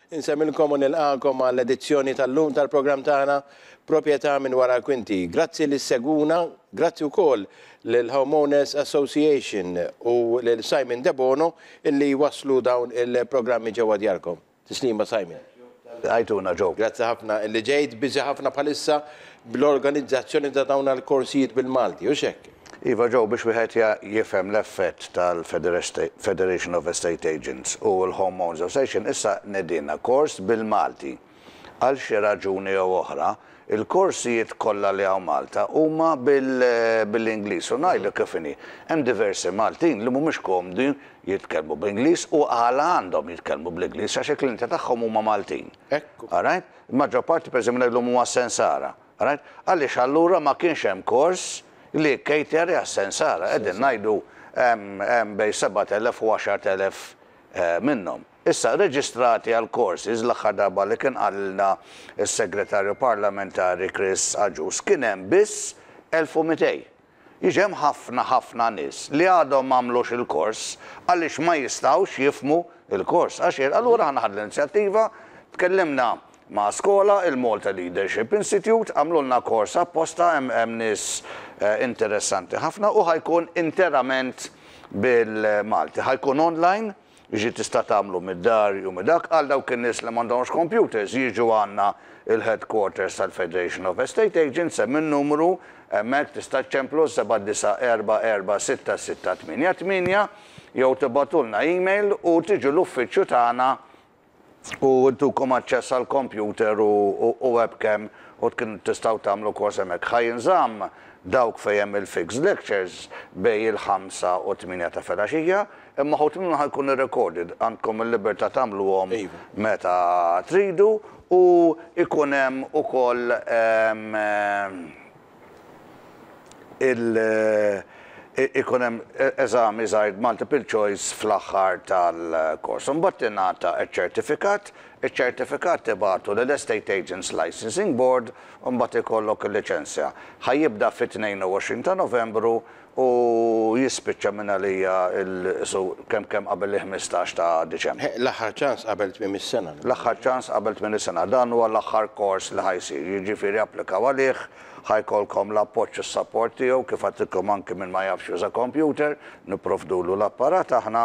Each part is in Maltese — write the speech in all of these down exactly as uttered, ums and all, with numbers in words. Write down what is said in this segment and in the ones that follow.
Insellmilkom u nilqagħkom għall-edizzjoni tal-lum tal-programm tagħna Proprjetà minn wara l-kwinti. Grazzi li ssegwuna, grazzi wkoll lill-Homeowners Association u lil Simon Debono illi waslu dawn il-programmi ġewwa djarkom. Tislima, Simon. Għajtuna, Joe. Grazzi ħafna illi ġejt. Busy ħafna bħalissa bl-organizzazzjoni ta' dawn il-korsijiet bil-Malti, u hekk? Iva, Joe, biex wieħed jifhem l-effett tal-Federation of Estate Agents u l-Homeowners Association, issa nedina kors bil-Malti. Għal xi raġuni jew oħra, il-korsijiet kollha li hawn Malta huma bil-Ingliż. U ngħidu kif inhi, hemm diversi Maltin li mhumiex komdi jitkellmu bl-Ingliż u għala għandhom jitkellmu bl-Ingliż, għax il-klijenti tagħhom huma Maltin. Ekku. Alright? Il-maġġor parti, pereżempju, ngħidlhom huma sensara. Alright? Għaliex allura ma kienx hemm kors li cater għas-sensara? Qegħdin ngħidu hemm bejn sebat elef u għaxart elef minnhom. Issa, reġistrati għal courses, l-aħħar darba li kien qalilna il-segretarju parlamentari Chris Agius, kien hemm biss elf u mitejn. Jiġi hemm ħafna ħafna nies li għadhom m'għamlux il-kors għaliex ma jistgħux jifhmu il-kors. Għax allura aħna ħadna l-inizjattiva, tkellimna ma' skola, il-Malta Leadership Institute, għamlulna kors apposta, hemm nies interessanti ħafna u ħa jkun interament bil-Malti. Ħa jkun online, jiġi tista' tagħmlu mid-dar u mid-dak. Għal dawk in-nies li m'għandhomx computers, jiġu għandna il-headquarters tal-Federation of Estate Agents, hemm in-numru hemmhekk, tista' ċemplu seba' disa' erba' erba' sitta sitta tmienja tmienja jew tibagħtulna email u tiġu l-uffiċċju tagħna u ntukom aċċess għal computer u webcam u tkun tistgħu tagħmlu kors hemmhekk. Ħa jinżamm dawk fejn hemm il-fixed lectures bejn il-ħamsa u tmienja ta' filgħaxija, imma uħud minnhom ħa jkun recorded, għandkom il-libertà tagħmluhom Iva. meta tridu u ikun hemm ukoll em, em, il- ikun hemm eżami żgħir multiple choice fl-aħħar tal-kors. Imbagħad tingħata ċ-ċertifikat, iċ-ċertifikat tibagħtu lill-Estate Agents Licensing Board u mbagħad ikollok il-liċenzja. Ħa jibda fit-tnejn u għoxrin ta' Novembru u jispiċċa minn għalija il- kemm kemm qabel il-ħmistax ta' Diċembru. L-aħħar ċans qabel tmiem is-sena. L-aħħar ċans qabel tmiem is-sena. Dan huwa l-aħħar kors li ħa jsir. Jiġifieri applikaw għalih, ħa jkollkom l-appoġġ u s-support tiegħu, kif għedtilkom, anki min ma jafx juża computer, nipprovdulu l-apparat aħna,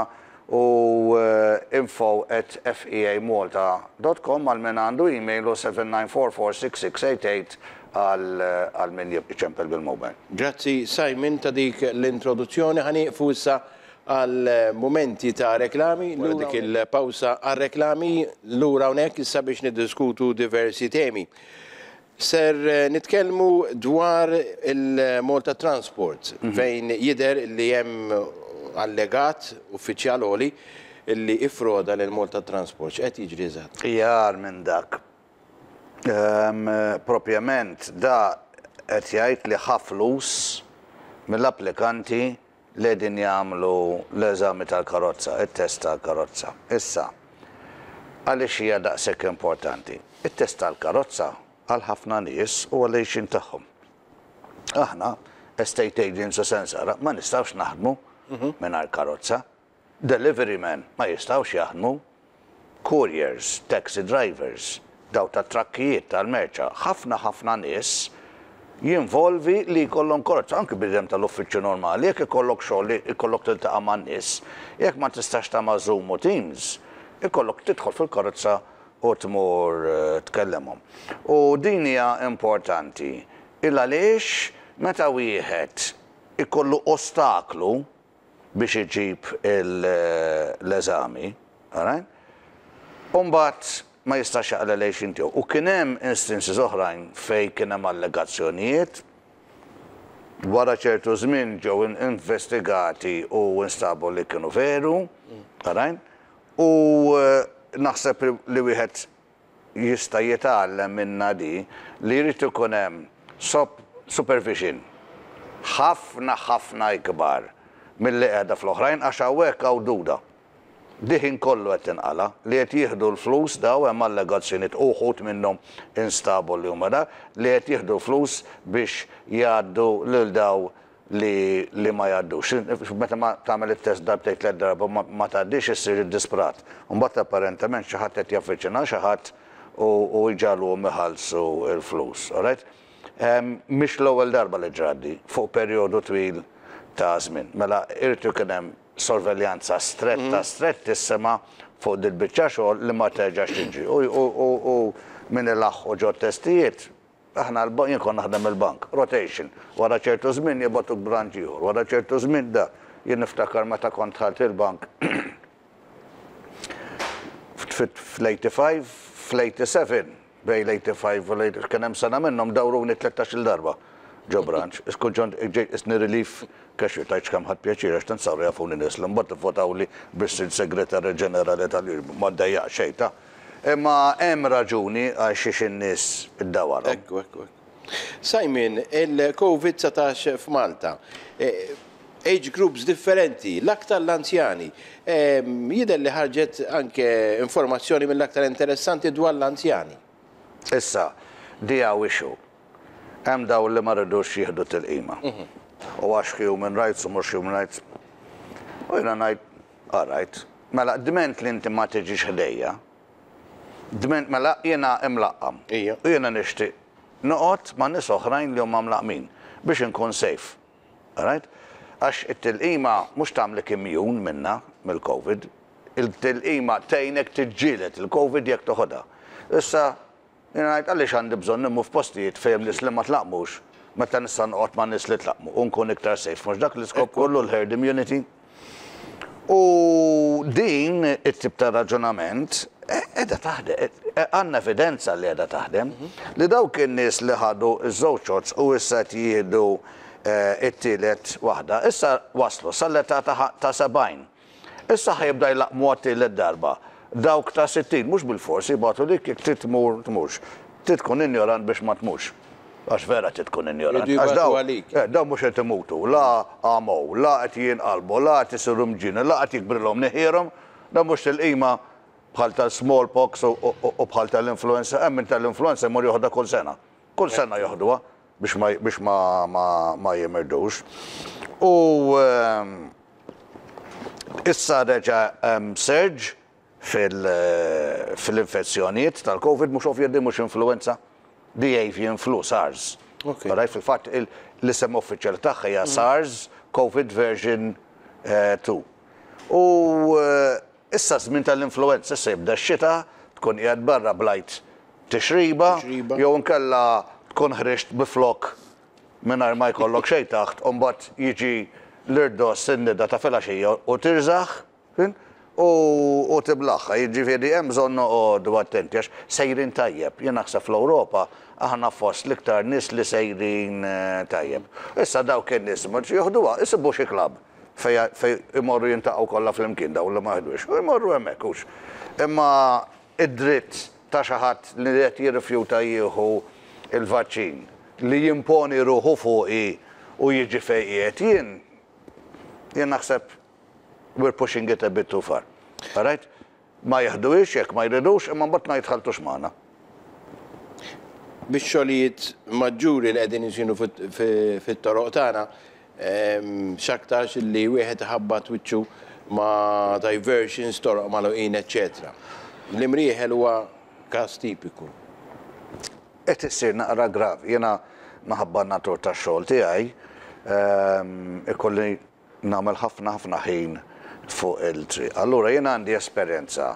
u eh, info at feamalta dot com għal min għandu email u seba' tnejn erba' erba' sitta sitta tmienja tmienja għal għal min jċempel bil-mobile. Grazzi, Simon, ta' dik l-introduzzjoni. Ħa nieqfu issa għal momenti ta' reklami, wara dik il-pawsa għal reklami lura hawnhekk issa biex niddiskutu diversi temi. Ser eh, nitkellmu dwar il-Malta Transport, fejn jidher li hemm allegat uffiċjal għoli illi iffroda lil Malta Transport. X'qed jiġri eżatt? Jar minn dak. Um, propjament da qed jgħid li ħa flus mill-applikanti li qegħdin jagħmlu l-eżami tal-karozza, it-test tal-karozza. Issa, għaliex hija daqshekk importanti? It-test tal-karozza għal ħafna nies u għal tagħhom. Aħna, estate agents u sensara, ma nistgħux naħdmu mingħajr karozza. Delivery men ma jistgħux jaħdmu. Couriers, taxi drivers, daw ta' trakkijiet tal-merċa, ħafna ħafna nies jinvolvi li jkollhom karozza, anki bniedem tal-uffiċċju normali, jekk ikollok xogħol li ikollok tiltaqa' man-nies, jekk ma tistax tagħmel Zoom u Teams, ikollok tidħol fil-karozza u tmur eh, tkellemhom. U din hija importanti. Il għaliex meta wieħed ikollu ostaklu biex iġib l-eżami, alright? Umbagħad ma jistax jaqla lejx tiegħu. U kien hemm instances oħrajn fej kien hemm allegazzjonijiet, wara ċertu żmien ġew investigati u instabu li kienu veru, alright? U eh, naħseb li wieħed jista' jitgħallem minna di li jrid ikun hemm supervision ħafna ħafna ikbar milli qiegħda fl-oħrajn, għax hawnhekk hawn duda. Diħin kollu qed tinqala li qed jieħdu l-flus daw. Hemm allegazzjonijiet, uħud minnhom instabu li huma da li qed jieħdu flus biex jgħaddu lil daw li, li ma jgħaddux. Meta ma tagħmel it-test darbtejn, tliet darba, ma, ma tgħaddix, issir iddisprat. Mbagħad apparentement xi ħadd qed jaffiċina xi ħadd u, u jġagħluhom iħallsu il-flus. Alright? Um, Mhix l-ewwel darba li ġrat di fuq perjodu twil ta' żmien. Mela irid ikun hemm sorveljanza stretta, strettissima fuq dil-biċċa xogħol li ma terġax tiġi. U, u, u, u min ilaħħu ġo testijiet, aħna l jien kont naħdem il-bank, rotation, wara ċertu żmien jibagħtuk branch ieħor, wara ċertu żmien da. Jien niftakar meta kont dħalt il-bank fl-ħamsa u tmenin, fl-sebgħa u tmenin, bejn l-ħamsa u tmenin u l-tmienja, kien hemm sena minnhom dawruni tlettax-il darba ġo branch. Iskun ġont isni relief cashier, tajċ kemm ħadt pjaċir għax tant saru jafuni nies li mbagħad ivvotawli biex issir segretarju ġenerali tal ma ddejjaq xejn ta'. Imma hemm raġuni għal xiex in-nies iddawarhom. Ekku, ekku, ekku. Simon, il-Covid dsatax f'Malta, eh, age groups differenti, l-aktar l-anzjani. Eh, Jidher li ħarġet anke informazzjoni mill-aktar interessanti dwar l-anzjani. Issa, di hawn issue. Hemm daw li ma ridux jieħdu tilqima. U għax human rights u mhux human rights. U jiena ngħid, all right, mela dment li inti ma tiġix ħdejja, dment mela jiena imlaqqam. Ija. U jiena nixtieq noqgħod ma' nies oħrajn li huma mlaqmin biex inkun safe. All right? Għax it-tilqima mhux tagħmlek immune minna mill-Covid, il-tilqima tgħinek tiġġieled il-Covid jekk toħodha. Issa, jiena ngħid, għaliex għandi bżonn immur f'postijiet fejn nies li ma tlaqmux, meta nista' noqgħod ma' nies li tlaqmu u nkun iktar safe? Mhux dak l-iskop kollu, l-herd immunity? U din it-tip ta' raġunament qiegħda taħdem, għandna evidenza li qiegħda taħdem, li dawk in-nies li ħadu iż-żewġ shots u issa qed jieħdu eh, it-tielet waħda, issa waslu sal-età ta' ta' sebgħin. Issa ħa jibda jlaqmu għat-tielet darba. Dawk ta' sittin, mhux bil-forsi bagħtu lik jekk trid tmur tmurx. Trid tkun ignorant biex ma tmurx. Għax vera trid tkun ignorant. Jridu Għax jibagħtu daw- għalik. eh, daw mhux qed imutu, la għamow, la qed jinqalbu, la qed isiru mġienen, la qed jikbrilhom mnieħierhom, da mhux tilqima bħal tal-smallpox u- u u bħal tal-influenza, hemm min tal-influenza jmur joħodha kull sena. Kull sena joħduha biex ma biex ma ma, ma jimirdux. U ehm, issa reġa' hemm surge fil- fil-infezzjonijiet tal-Covid, mhux ovvja di mhux influenza, di avian flu, SARS. Ok. Alright, fil-fatt il- l-isem uffiċjali tagħha hija SARS COVID version tnejn. U eh, issa żmien tal-influenza, issa jibda x-xita, tkun qiegħed barra blajt tixriba, Tixriba. jew inkella tkun ħriġt bi flok mingħajr ma jkollok xejn taħt, u mbagħad jiġi l-irdos in-nida ta' filgħaxija u tirżaħ, fin? U, u tiblaħħa, jiġifieri hemm bżonn noqogħdu attenti għax sejrin tajjeb. Jien naħseb fl-Ewropa aħna fost l-iktar nies li sejrin eh, tajjeb. Issa dawk in-nies ma joħduha, isibu xi klabb fej fej imorru jiltaqgħu kollha flimkien dawn li ma ħadux. U jmorru hemmhekk hux. Imma id-dritt ta' xi ħadd li qed jirrifjuta jieħu il-vaċċin li jimponi ruħu fuqi u jiġi fejn qiegħed jien, jien naħseb we're pushing it a bit too far. All right? Ma jeħduhiex jekk ma jridux, imma mbagħad ma jitħaltux magħna. Biex xogħlijiet maġġuri li qegħdin isiru fit- fi- fit-toroq tagħna, em, x'aktarx li wieħed iħabbat wiċċu ma' diversions, toroq magħluqin, eċċetera. L-Imrieħel huwa każ tipiku. Qed issir naqra gravi. Jiena minħabba natur tax-xogħol tiegħi ehm, ikolli nagħmel ħafna ħafna ħin fuq il-triq. Allura jiena għandi esperjenza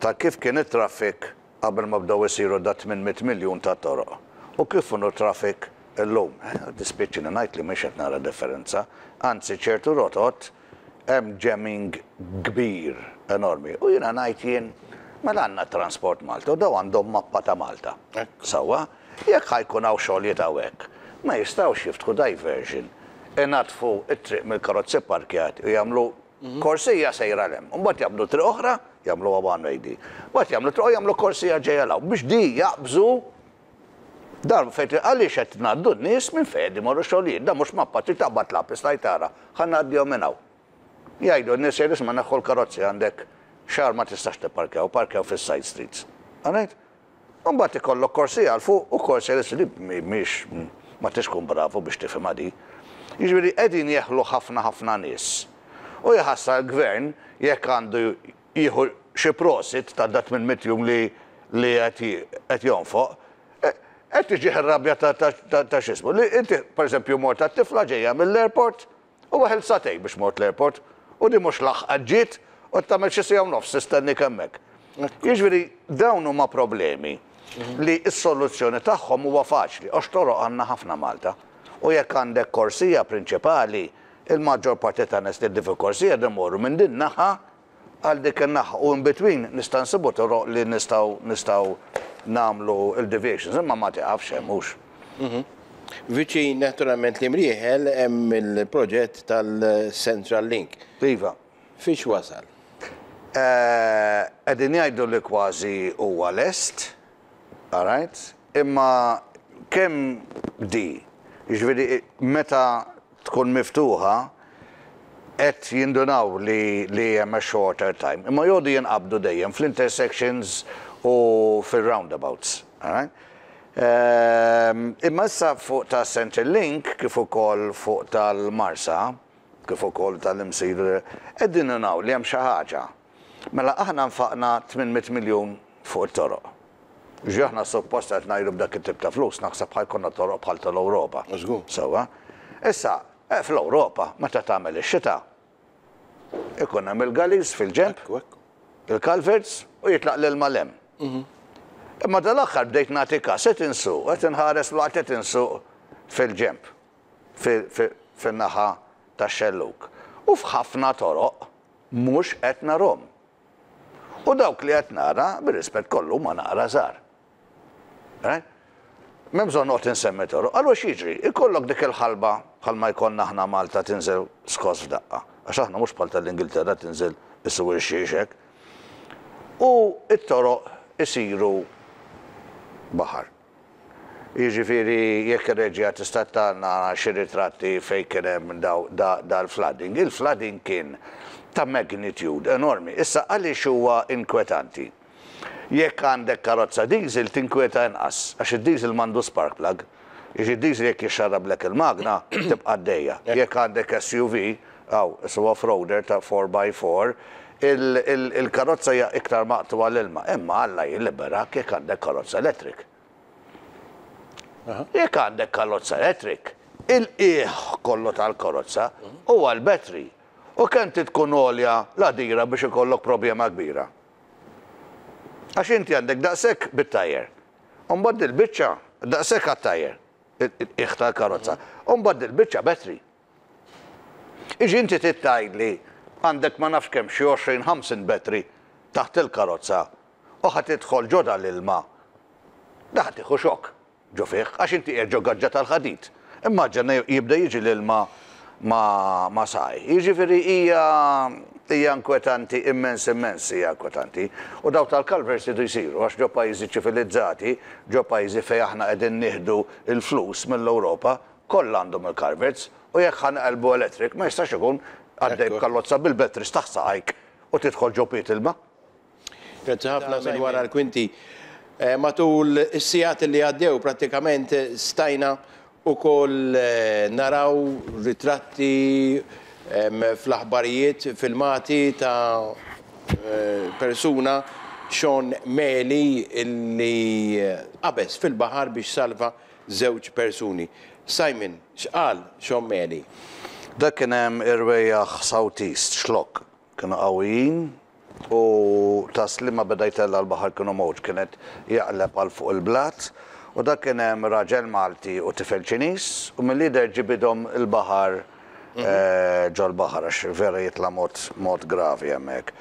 ta' kif kien it-traffic qabel ma bdew isiru da tmien mitt miljun ta' toroq. U kif inhu traffic illum. Eh, Dispjaċini ngħid li mhix qed nara differenza. Anzi, ċertu rotot hemm jamming kbir enormi. U jiena ngħid jien, mela għandna Transport Malta u daw għandhom mappa ta' Malta. Ekku. Sawa, jekk ħa jkun hawn xogħlijiet hawnhekk, ma jistgħux jiftħu diversion, inaddfu it-triq mill-karozzi parkjati u jagħmlu korsija sejra 'l hemm. Mbagħad jagħmlu triq oħra, jagħmlu one way di. Mbagħad jagħmlu triq, jagħmlu korsija ġejja 'l hawn biex di jaqbżu dar fejn, għaliex qed ngħaddu n-nies minn fejn imorru xogħlijiet. Da mhux mappa trid taqbad lapis tajt tara, ħa ngħaddihom minn hawn. Jgħidu n-nies, jgħidu, "Isma', neħħu l-karozzi, għandek xahar ma tistax tipparkjaw, parkjaw fis-side streets." Għanajt? Mbagħad ikollok korsija 'l fuq u korsija 'l li mhix ma tix tkun bravu biex tifhimha di. Jiġifieri qegħdin jeħlu ħafna ħafna nies. U jaħasra l-gvern jekk għandu jieħu xi prosit ta' dat minn mitt jum li li qed jonfoq, qed tiġi rabja ta' x'ismu. Li inti, pereżempju, mort tat-tifla ġejja mill-airport u waħel sagħtejn biex mort l-airport u di mhux laħqet ġiet u tagħmel xi siegħa u nofs tistennik hemmhekk. Jiġifieri dawn huma problemi li s-soluzzjoni tagħhom huwa faċli, għax toroq għandna ħafna Malta. U jekk għandek korsija prinċipali, il-maġġor parti ta' nies li fil-korsija imorru minn din naħa għal dik in-naħa u in between nista' nsibu toroq li nistgħu nistgħu nagħmlu il-deviations, imma ma tiqafx hemm hux. Viċin naturalment li Mrieħel hemm il-proġett tal-Central Link. Iva. Fiex wasal? Qegħdin jgħidu li kważi huwa lest, all right? Imma kemm di, jiġifieri meta tkun miftuħa, qed jindunaw li li hemm a shorter time. Imma jgħodu jinqabdu dejjem fl-intersections u fil-roundabouts. All right? Ehm, Imma issa fuq ta' Central Link, kif ukoll fuq tal-Marsa, kif ukoll tal-Imsida, qegħdin nindunaw li hemm xi ħaġa. Mela aħna nfaqna tmien mitt miljun fuq it-toroq. Ġi aħna suppost qed ngħidu b'dak it-tip ta' flus naħseb ħa jkollna toroq bħal tal-Ewropa. Żgur. Sewwa. Issa, eh, fl-Ewropa, meta tagħmel ix-xita, ikun hemm il-gullies fil-ġenb, Ekku, ekku. il-culverts u jitlaq l-ilma 'l hemm. Imma dal-aħħar bdejt nagħti kas, qed insuq, qed inħares waqt qed insuq fil-ġenb, fil-naħa tax-xelluk. U f'ħafna toroq mhux qed narhom. U dawk li qed nara, bir-rispett kollu, ma naqra żgħar. Right? M'hemm bżonn noqgħod insemmi toroq. Allura x'jiġri? Ikollok dik il-ħalba bħalma jkollna aħna Malta, tinżel skos f'daqqa. Għax aħna mhux bħal tal-Ingilterra tinżel issu xiexek. U it-toroq isiru baħar. Jiġifieri jekk ir-reġija tista' tagħna xi ritratti fejn kien hemm dal-flooding. Il-flooding kien ta' magnitude enormi. Issa għaliex huwa inkwetanti? Jekk għandek karozza diesel tinkwieta inqas, għax id-diesel m'għandu spark plug. Jiġi diesel jekk jixxarrablek il-magna tibqa' għaddejja. Jekk għandek S U V, aw, su off-roader ta' four by four, il-karozza hija iktar maqtugħa l-ilma. Imma Alla jilliberak jekk għandek karozza electric. Jekk għandek karozza electric, il-qiegħ kollu tal-karozza huwa l-battery. U kemm tkun għolja l-għadira biex ikollok problema kbira? Għax inti għandek daqshekk bit-tajer. Umbagħad il-biċċa daqshekk għat-tajer, il-qiegħ tal-karozza. Umbagħad il-biċċa battery. Iġi inti tgħidli għandek ma nafx kemm xi għoxrin ħamsin battery taħt il-karozza u ħa tidħol ġo da l-ilma. Da ħa tieħu xokk ġo fih, għax inti qiegħed ġo gaġġa tal-ħadid. Immaġina jibda jiġi l-ilma ma, ma saj. Jiġifieri hija hija inkwetanti immens, immens hija inkwetanti. U daw tal-culverts idu jsiru għax ġo pajjiżi ċivilizzati, ġo pajjiżi fejn aħna qegħdin nieħdu il-flus mill-Ewropa, kollha għandhom il-culverts u jekk ħa nqelbu electric ma jistax ikun għaddej b'karozza bil-batteries taħt saqajk u tidħol ġo piet ilma. Grazzi ħafna minn wara l-kwinti. Eh, Matul is-sigħat li għaddew prattikament stajna ukoll eh, naraw ritratti em, fl-aħbarijiet, filmati ta' eh, persuna, Sean Meli, illi qabeż fil-baħar biex salva żewġ persuni. Simon, x'qal Sean Meli? Dak kien hemm irwejjaħ southeast, Xlokk, kienu qawwijin u Tas-Sliema beda jtella' l-baħar, kienu mowġ kienet jaqleb għal fuq il-blat u dak kien hemm raġel Malti u tifel Ċiniż u mill-lider ġibidhom il-baħar eh, ġol baħar għax vera jitla' mod mod gravi hemmhekk.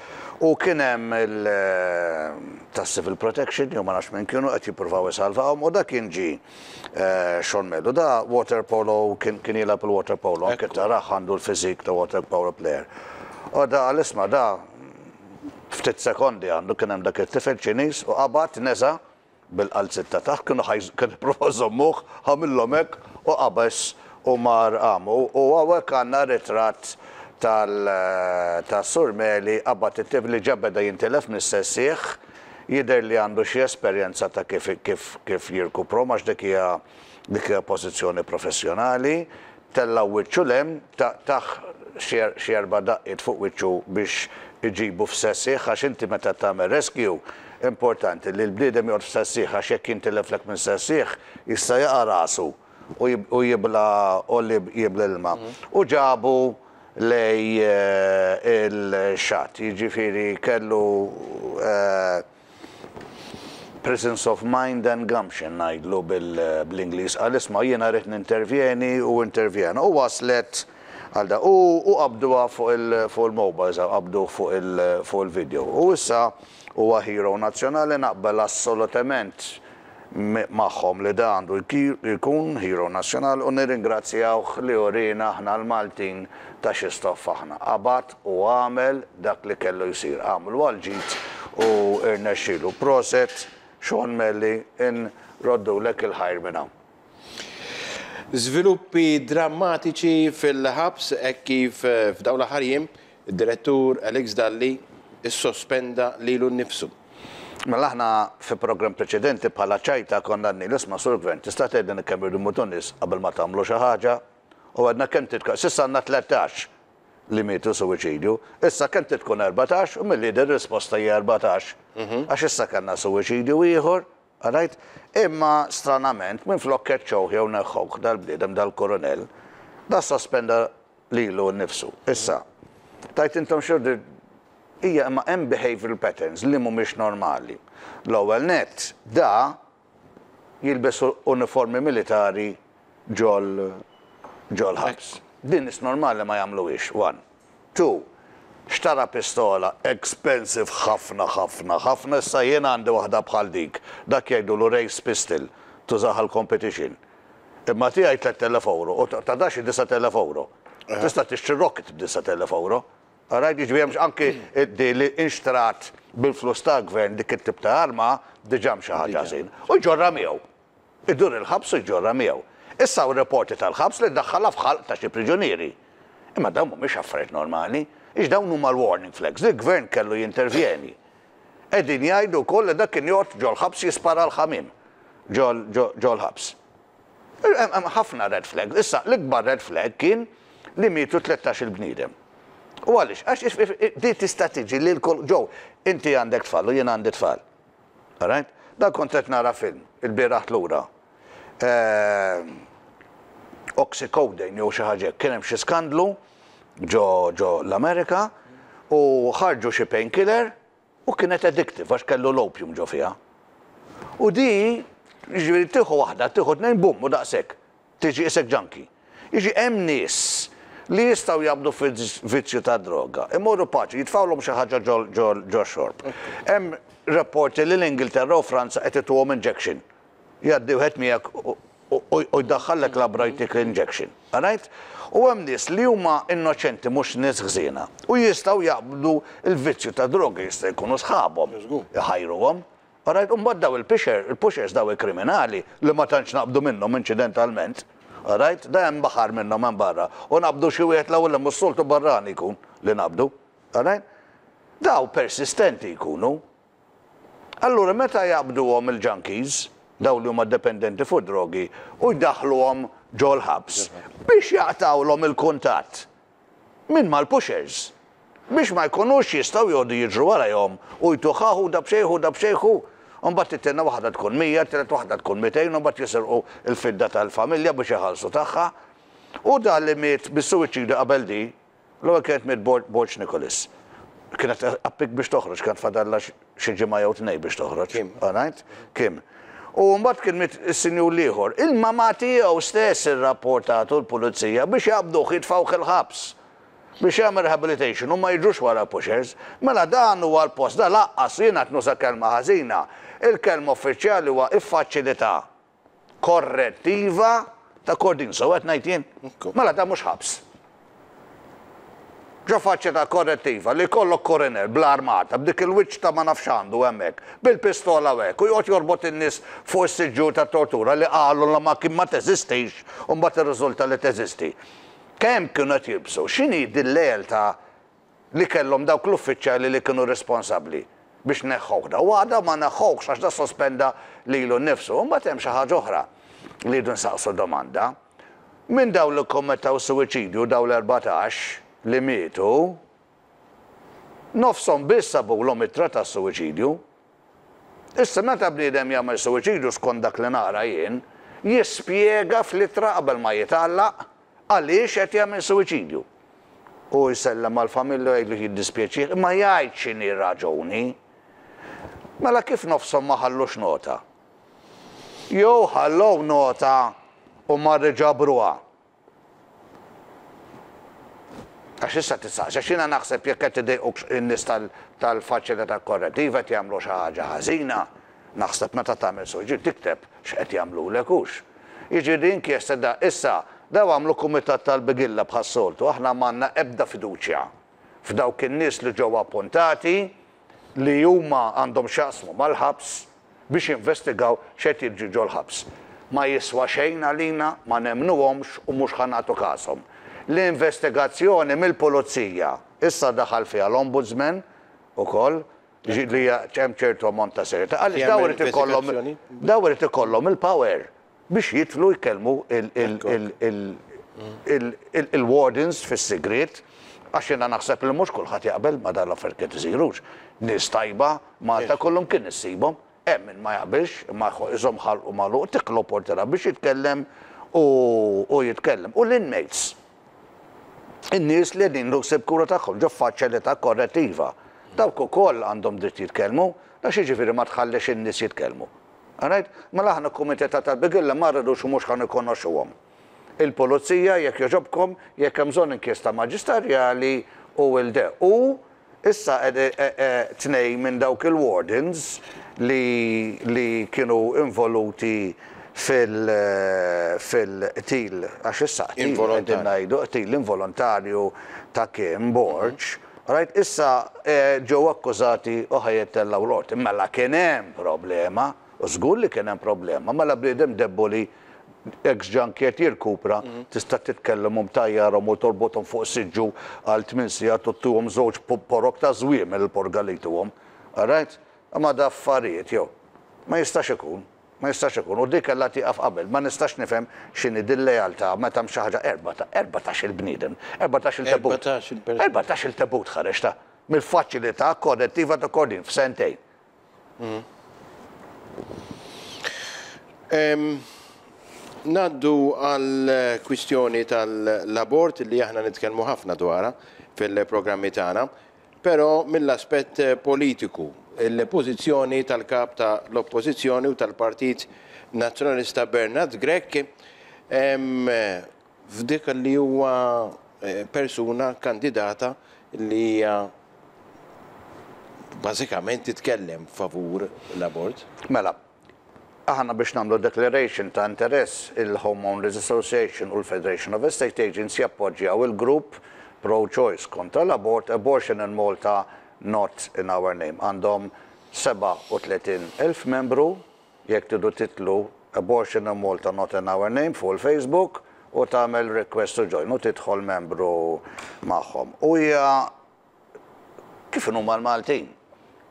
U kien hemm il eh, tas-civil protection jew ma nafx minn kienu qed jippruvaw isalvawhom u dak kien ġi eh, Sean Melu. Da water polo, kien kien jilgħab il-water polo, anke tarah għandu l-fizik ta' water polo player. U da għal-isma da ftit sekondi għandu kien hemm dak it-tifel Ċiniż u qabad neża' bil-qalzit ta' taħt, kienu ħajz kienu provaw żommuh, għamillhom hekk u qabeż u mar għam. U hawnhekk għandna ritratt tal-Sur Meli qabad it-tifel li ġa beda jintilef mis-sessieħ, jidher li għandu xi esperjenza ta' kif kif kif jirkupru għax dik hija dik hija pożizzjoni professjonali, Tella' wiċċu 'l hemm, tah xi erba' daqqiet fuq wiċċu biex iġibu f'sensih, għax inti meta tagħmel rescue importanti li l-bniedem joqgħod f'sensih, għax jekk jintileflek minn sensih jista' jaqa' rasu u jibla u jibla l-ilma. U ġabu lejn il-xatt, jiġifieri kellu presence of mind and gumption ngħidlu bl-Ingliż, għal isma' jiena rrid nintervjeni u intervjena. U waslet għal da u qabduha fuq il-mobiles, qabdu fuq il-video. U issa huwa hero nazzjonali, naqbel assolutament magħhom li da għandu jkun hero nazzjonali u nirringrazzjawh li urina aħna l-Maltin ta' xi stoff aħna. Qabad u għamel dak li kellu jsir, għamlu għal-ġid u irnexxielu. Proset, Sean Melli, inroddulek il-ħajr minn hawn. Żviluppi drammatiċi fil-ħabs hekk kif f'dawn l-aħħar jiem id-direttur Alex Dalli issospenda lilu nnifsu. Mela aħna fi programm preċedenti bħala ċajta konna għedna, isma' sur gvern, tista' tgħidilna kemm irridu jmutu nies qabel ma tagħmlu xi ħaġa? U għedna kemm titka, s'issa għandna tlettax li mietu suwiċidju, issa kemm tkun erbatax u milli din risposta hija erbatax. Għax issa kellna suwiċidju ieħor, għarajt? Imma stranament minn flok keċċewh jew neħħewh dal-bniedem dal-koronel, da sospenda lilu nnifsu. Issa, tajt intom xordi hija imma hemm behavioral patterns li mhumiex normali. L-ewwel nett da jilbes uniformi militari ġol ġol ħabs. Din is normali ma jagħmluhiex. One. Two. Xtara pistola expensive ħafna ħafna ħafna, issa jien għandi waħda bħal dik. Dak jgħidulu race pistol tużaha l-competition. Imma tiegħi tliet elef euro u ta' daxi disa' elef euro. Tista' tixtri rocket b'disa' elef euro. Għarajt, jiġifieri hemmx anki di li inxtrat bil-flus ta' gvern dik it-tip ta' arma diġà xi ħaġa ħażin. U jġorra miegħu. Idur il-ħabs u jġorra miegħu. Issa u reporti tal-ħabs li daħħalha f'ħalq ta' xi priġunieri. Imma dawn mhumiex affarijiet normali, ix dawn huma l-warning flags, li l-gvern kellu jintervjeni. Qegħdin jgħidu wkoll li dak kien joqgħod ġol-ħabs jispara l-ħamiem ġol-ħabs. Hemm ħafna red flags. Issa l-ikbar red flag kien li mietu tlettax il-bniedem. U għaliex? Għax di tista' tiġi li l-kol ġew, inti għandek tfal u jien għandi tfal. Alright? Dan kont qed nara film il-bieraħ lura. Oxycodone jew xi ħaġa, kien hemm xi skandlu ġo ġo l-Amerika u ħarġu xi painkiller u kienet addictive għax kellu l-opium ġo fiha. U di, jiġifieri tieħu waħda, tieħu tnejn, bum, u daqshekk. Tiġi isek junkie. Jiġi hemm nies li jistgħu jabdu vizzju ta' droga. Imorru paċi, jitfawlhom xi ħaġa ġo xorb. Hemm rapporti li l-Ingilterra u Franza qed ituhom injection. Jgħaddi wieħed miegħek u jdaħħallek labra jtik injection. Alright? U hemm nies li huma innoċenti, mhux nies ħżiena. U jistgħu jaqbdu il-vizzju ta' droga, jista' jkunu sħabhom. Iħajruhom. Alright, u mbagħad daw il-pusher, il-pushers daw il-kriminali li ma tantx naqbdu minnhom inċidentalment. Alright, da hemm baħar minnhom hemm barra. U naqbdu xi wieħed l-ewwel hemm s-soltu barrani jkun li naqbdu. Alright? Daw persistenti jkunu. Allura meta jaqbduhom il-junkies, daw li huma dependenti fuq drogi, u jdaħluhom ġol-ħabs biex jaqtawlhom il-kuntatt minn mal-pushers, biex ma jkunux jistgħu jgħodu jiġru warajhom u jtuħaħu da bxejħu da bxejħu. Mbagħad it-tieni waħda tkun mija, t-tielet waħda tkun mitejn, u mbagħad jisirqu l-fidda tal-familja biex iħallsu tagħha. U da li miet bis-suwiċidju qabel di, l-ewwel kienet miet Borg Nicholas. Kienet appik biex toħroġ, kienet fadalla xi ġimgħa jew tnejn biex toħroġ. Kim. Alright? Kim. U mbagħad kien miet is-sinjur l-ieħor. Il-mama tiegħu stess irrapportatu l-pulizija biex jaqbduh jitfgħuh il-ħabs. Biex jagħmel rehabilitation u ma jiġux wara pushers. Mela dan huwa l-post, da laqqas jiena qed nuża kelma ħażina. Il-kelma uffiċjali huwa iffaċilità korrettiva ta' Kordin, so qed ngħid jien. Mela da mhux ħabs. Ġo faċilità korrettiva li jkollok koronel bl-armata, b'dik il-wiċċ ta' ma nafx għandu hemmhekk, bil-pistola hekk, u joqgħod jorbot in-nies fuq is-siġġu ta' tortura li qalu li ma kien ma teżistix u mbagħad irriżulta li teżisti. Kemm kienu qed jilbsu? X'inhi din l-lealtà li kellhom dawk l-uffiċjali li kienu responsabbli biex neħħuh da? U għada ma neħħuhx għax da sospenda lilu nnifsu. U mbagħad hemm xi ħaġa oħra li jridu nsaqsu domanda. Minn dawn li kkommettaw suwiċidju, dawn l-erbatax li mietu, nofshom biss sabulhom ittra ta' suwiċidju. Issa, meta bniedem jagħmel suwiċidju, skont dak li nara jien, jispjega fl-ittra qabel ma jitgħallaq għaliex qed jagħmel suwiċidju. U jsellem mal-familja, jgħidlu jiddispjaċih, imma jgħid x'inhi raġuni. Mela kif nofshom ma ħallux nota? Jew ħallew nota u ma ġabruha? Għax issa tistaqsi, għax jiena naħseb jekk qed idejquk in-nies tal-faċilità korrettiva, qed jagħmlu xi ħaġa ħażina, naħseb meta tagħmel suwiċidju tikteb x'qed jagħmlulek hux. Jiġifieri inkjesta da, issa daw għamlu kumitat tal-bigilla bħas-soltu, aħna m'għandna ebda fiduċja f'dawk in-nies li ġew appuntati li huma għandhom x'jaqsmu mal-ħabs biex jinvestigaw x'qed jiġri ġol-ħabs. Ma jiswa xejn għalina, ma nemnuhomx u mhux ħa nagħtu kashom. L-investigazzjoni mill-pulizija issa daħal fiha l-Ombudsman ukoll, li hemm ċertu ammont ta' serjetà. Għaliex daw irid ikollhom daw irid ikollhom il-power biex jidħlu jkellmu il-wardens fis-sigriet, għax jiena naħseb li mhux kulħadd jaqbel ma dan l-affarijiet qed isirux. Nies tajba Malta kollhom kien issibhom, hemm min ma jaqbilx, imma iżomm ħalqu magħluq, tik l-opportunità biex jitkellem u jitkellem. U l-inmates, in-nies li qegħdin ħsieb kura tagħhom ġo faċilità korrettiva, dawk ukoll għandhom dritt jitkellmu, għax jiġifieri ma tħallix in-nies jitkellmu. Alright? Mela aħna kumitat tal-bigilla ma rridux u mhux ħa nikonoxxuhom. Il-pulizija, jekk jogħġobkom, jekk hemm bżonn inkjesta maġisterjali u il-de. U issa tnej minn dawk il-wardens li, li kienu involuti fil-qtil, għax issa qtil qegħdin ngħidu, qtil involontarju ta' Kim Borg, right, issa ġew akkużati u ħa jittellgħu l-qorti. Mela kien hemm problema, u żgur li kien hemm problema, mela bniedem debboli ex-junkie qed jirkupra, tista' titkellem u mtajjarhom u torbothom fuq siġġu għal tmien sigħat u ttuhom żewġ porok ta' żwiemel il-porga li jtuhom. All right? Ma da affarijiet jew. Ma jistax ikun. Ma jistax ikun. U dik kellha tieqaf qabel. Ma nistax nifhem x'inhi din lealtà meta hemm xi ħaġa erbatax il-bniedem, erbatax il-tebut. Erbatax il-tebut ħareġ ta' mill-faċilità korrettiva ta' Kordin f'sentejn. Naddu għal kwistjoni tal-abort li aħna nitkellmu ħafna dwarha fil-programmi tagħna, però mill-aspett politiku, il-pożizzjoni tal-kap tal-Oppożizzjoni u tal-Partit Nazzjonalista Bernard Grech f'dik li huwa persuna kandidata li hija bażikament titkellem favur l-abort. Mela, aħna biex nagħmlu declaration ta' interess, il-Homeowners Association u l-Federation of Estate Agents jappoġġjaw il-grupp pro-choice kontra l-abort, Abortion in Malta Not in Our Name. Għandhom sebgħa u tletin elf membru, jekk tridu titlu Abortion in Malta Not in Our Name fuq il-Facebook u tagħmel request to join u tidħol membru magħhom. U hija kif huma l-Maltin?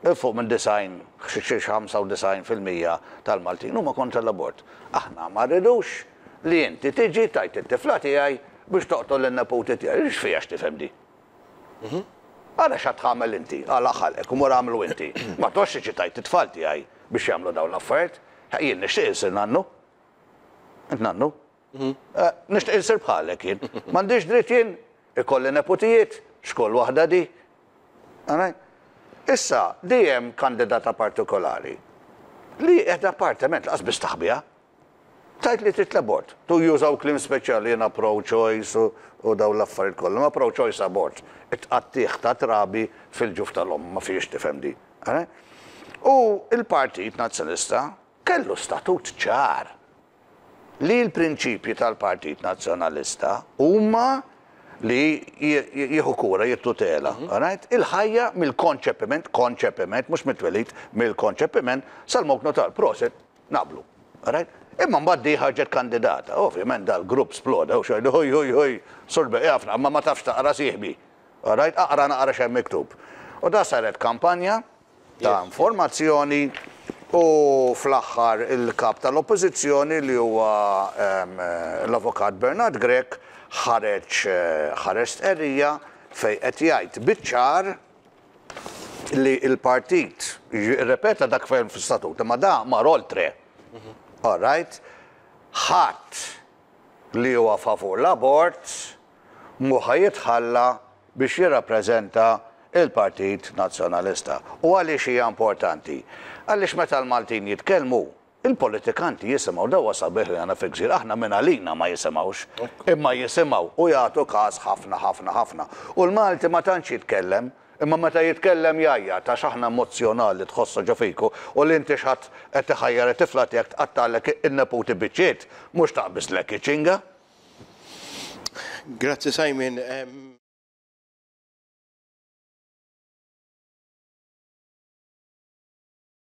Fuq minn disgħin, xi ħamsa u disgħin fil-mija tal-Maltin huma kontra l-abort. Aħna ma rridux li inti tiġi tajt it-tifla tiegħi biex toqtol lin-neputi tiegħi. X'fiha x'tifhem di? Għala x'għad tagħmel inti, għala ħalqek u mur għamlu inti. Ma toqgħodx tiġi tajt it-tfal tiegħi biex jagħmlu dawn l-affarijiet. Jien nixtieq insir nannu. Int nannu? Nixtieq insir bħalek jien. M'għandix dritt jien ikolli neputijiet, x'koll waħda di. Issa, dejjem kandidata partikolari li qiegħda appartement laqas biss taħbiha. Tajt li trid l-abort. Tu jużaw kliem speċjali jiena pro-choice u dawn l-affarijiet kollha. Ma pro-choice abort. It-tqattih ta' trabi fil-ġuf tal-omm, ma fiex tifhem di. U il-Partit Nazzjonalista kellu statut ċar li l-prinċipji tal-Partit Nazzjonalista huma li jieħu kura, jittutela, right? Il-ħajja mill-konċepiment, konċepiment, mhux mit-twelid, mill-konċepiment sal-mewt notar, proset, naqblu, right? Imma mbagħad di ħarġet kandidata, ovvjament dal-grupp sploda u xejn, hoj, hoj, hoj, sorbe, jafna, ma ma tafx taqra sieħbi, right? Aqra naqra x'hemm miktub. U da saret kampanja ta' informazzjoni U fl-aħħar il-kap tal-Oppożizzjoni, li huwa l-Avukat Bernard Grech, ħareġ ħareġ stqarrija fejn qed jgħid biċ-ċar li il-partit ripeta dak fejn fl-istatut, imma da mar oltre. All right? Ħadd li huwa favur l-abort mhu ħa jitħalla biex jirrappreżenta il-Partit Nazzjonalista. U għaliex hija importanti? Għaliex meta l-Maltin jitkellmu, il-politikanti jisimgħu. Dawa sabiħ li għandna fi gżira, aħna minn għalina ma jisimgħux, imma jisimgħu u jagħtu każ ħafna ħafna ħafna. U l-Malti ma tantx jitkellem, imma meta jitkellem jgħajjat, għax aħna emozjonali, tħossa ġo fiku, u li inti x'ħadd qed iħajjar it-tifla tiegħek tqattagħlek in-neputi biċċiet, mhux taqbiżlek iċ-ċinga. Grazzi, Simon.